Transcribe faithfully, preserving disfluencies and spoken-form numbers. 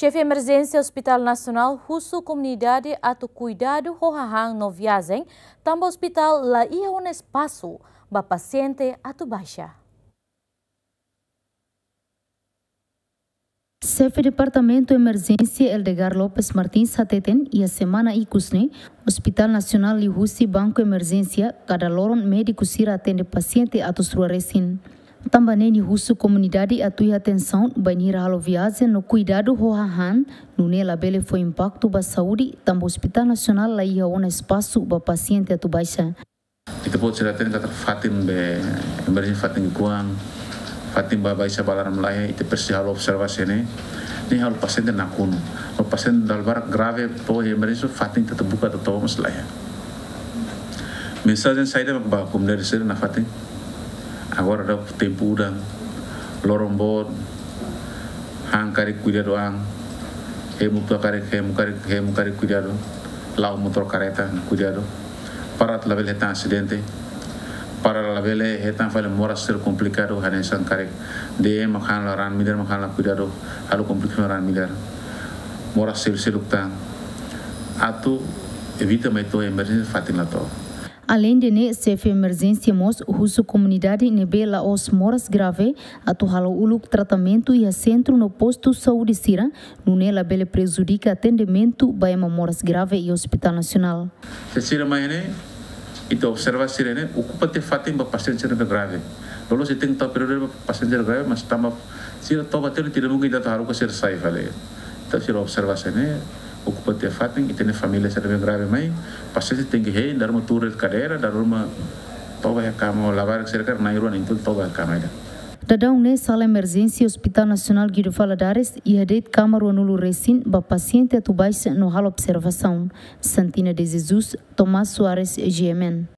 Xefe Emerjénsia Hospital Nasionál husu komunidade atu kuidadu ho hahán no viajen, tanba ospitál la iha ona espasu ba pasiente atu baixa. Xefe Departamentu Emerjénsia Eldegar Lopes Martins hateten, iha semana ikus ne'e, Ospitál Nasionál liuhusi Banku Emerjénsia, kada loron médiku sira atende pasiente atus rua resin. Tanba ne'e nia husu komunidade atu iha atensaun bainhira halo viajen no kuidadu ho hahán, nune'e labele fó impaktu ba saúde, tanba Ospitál Nasionál la iha ona espasu ba pasiente atu baixa. Ita-boot sira hatene katak fatin be emerjénsia fatin ki'ikoan, fatin ba baixa ba laran laiha, ita presiza halo observasaun ne'e, ne'e halo pasiente nakonu. No pasiente dala barak grave, to'o emerjénsia fatin ita buka atu toba mós laiha. Mensajen saida mak ba komunidade sira nafatin? Agora daudaun tempu udan, loron boot, han karik kuidadu an, hemu tua karik, hemu karik, hemu karik kuidadu, la'o motór kareta kuidadu, para atu labele hetan asidente, para labele hetan fali moras sira komplikadu, hanesan karik D M mak han la, raan midar mak han la kuidadu, halo komplikasaun raan midar, moras sira seluk tan, atu evita mai to'o emerjénsia fatin la to'o. Aleinde ne'e, Xefe Emerjénsia mós husu komunidade ne'ebé la'ós moras grave atu halo uluk tratamentu iha sentru no postu saúde sira, nune'e labele prejudika atendimentu ba ema moras grave iha Ospitál Nasionál. Se sira mai ne'e, ita observa sira ne'e, okupa tiha fatin ba pasiente sira ne'ebé grave. Loloos ita tenke tau períodu ba pasiente sira grave, mas tanba sira toba tiha, tidak mungkin ita atu haruka sira sai fali. Entaun sira observa sira ne'e, okupa tiha fatin, ita-nia família sira ne'ebé grave mai, pasiente tenke hein, dala ruma tuur de'it kadeira, dala ruma toba iha kama, labarik sira karik na'in-rua na'in-tolu toba iha kama ida. Daudaun ne'e sala emerjénsia Ospitál Nasionál Guido Valadares iha de'it kama ruanulu resin ba pasiente atu baixa no halo observasaun. Santina de Jesus, Tomás Soares, G M N.